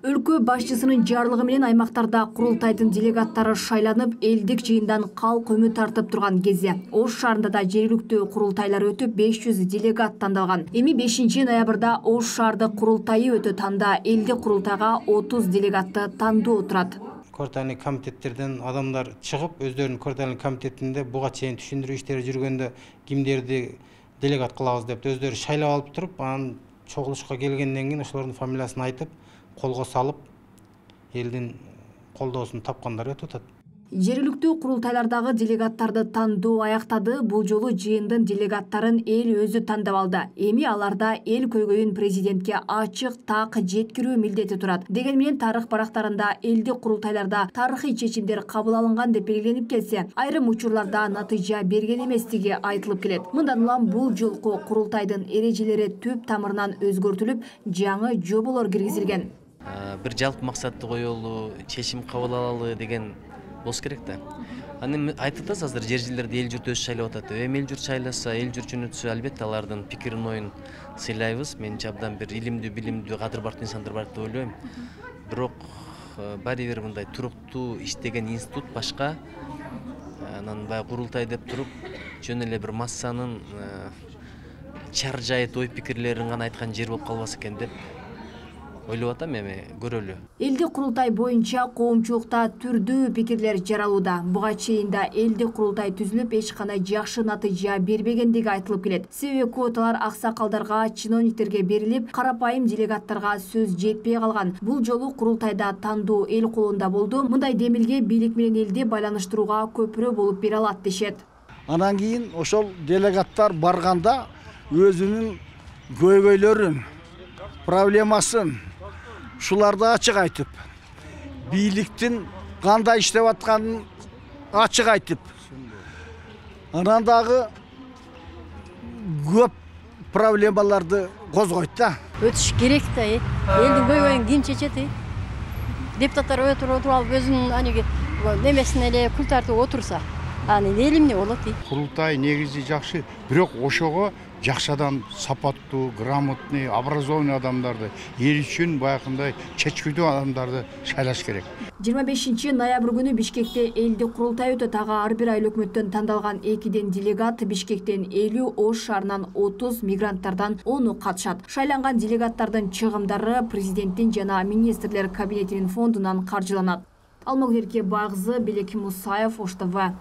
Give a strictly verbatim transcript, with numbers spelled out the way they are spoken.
Өлкө башчысынын жарлыгы менен аймактарда курултайдын делегаттары шайланып, элдик жыйындан калк өмү тартып турган кезде Ош шаарында да жергиликтүү курултайлар өтүп, беш жүз делегат тандалган. Эми бешинчи ноябрда Ош шаардык курултайы өтөт, анда элдик курултайга отуз делегатты тандоо турат. Курултайдык комитеттерден адамдар чыгып, өздөрүнүн курултайдык комитетинде буга чейин түшүндүрүү иштери жүргөндө кимдерди делегат кылабыз деп өздөрү шайлап алып туруп, анан чогулушка келгенден кийин ошолордун фамилиясын айтып, колго салып, элдин колдоосун тапкандар өтүп атат. Жергиликтүү курултайлардагы делегаттарды тандоо аяктады. Бул жолу жыйындын делегаттарын эл өзү тандап алды. Эми аларда эл көйгөйүн президентке ачык так жеткирүү милдети турат. Деген менен тарых барактарында элдик курултайларда тарыхый чечимдер кабыл алынган деп белгиленип келсе, айрым учурларда натыйжа берген эместиги айтылып келет. Мындан улам бул жолку курултайдын эрежелери түп тамырынан өзгөртүлүп, жаңы жоболор киргизилген. Бир жалпы максатты коелу, чечим кабыл алалы деген болуш керек да. Аны айтып атасыз, азыр жер жерлерде эл журт өзү шайлап атат. Эми эл журт шайласа, эл журт жөнөтсө, албетте алардын пикирин, оюн сыйлайбыз. Менимче абдан бир илимдүү, билимдүү, кадыр бартуу инсандар бар деп ойлойм. Бирок баары бир мындай туруктуу иштеген институт башка, анан баягы курултай деп туруп, жөн эле бир массанын чар жайыт ой пикирлерин гана айткан жер болуп калбаса экен деп ойлоп атам, эми көрөлү. Элдик курултай боюнча коомчулукта түрдүү пикирлер жаралууда. Буга чейин да элдик курултай түзүлүп, эч кандай жакшы натыйжа бербегендиги айтылып келет. Себеби квоталар аксакалдарга, чиновниктерге берилип, карапайым делегаттарга сөз жетпей калган. Бул жолу курултайда тандоо эл колунда болду. Мындай демилге бийлик менен элди байланыштырууга көпүрө болуп бере алат дешет. Анан кийин ошол делегаттар барганда өзүнүн көйгөйлөрүн, проблемасын ушуларды ачык айтып, бийликтин кандай иштеп атканын ачык айтып, анан дагы көп проблемаларды козгойт да. Өтүш керек да, элдин көйгөйүн ким чечет? Депутаттар отуруп алып өзүнүн аниги немесине эле күл тартып отурса, анын эл эмне болот? Курултай негизи жакшы, бирок ошого жакшы адам, сапаттуу, грамотный, образованный адамдарды, эл үчүн баягындай чечкүдүү адамдарды шайлаш керек. жыйырма бешинчи ноябрь күнү Бишкекте элдик курултай өтөт. Ага ар бир айыл өкмөттөн тандалган экиден делегат, Бишкектен элүү, Ош шаарынан отуз, мигранттардан ону катышат. Шайланган делегаттардын чыгымдары президенттин жана министрлер кабинетинин фондунан каржыланат. Алмагүл Эркебайкызы, Белек Мусаев, Ош Т В.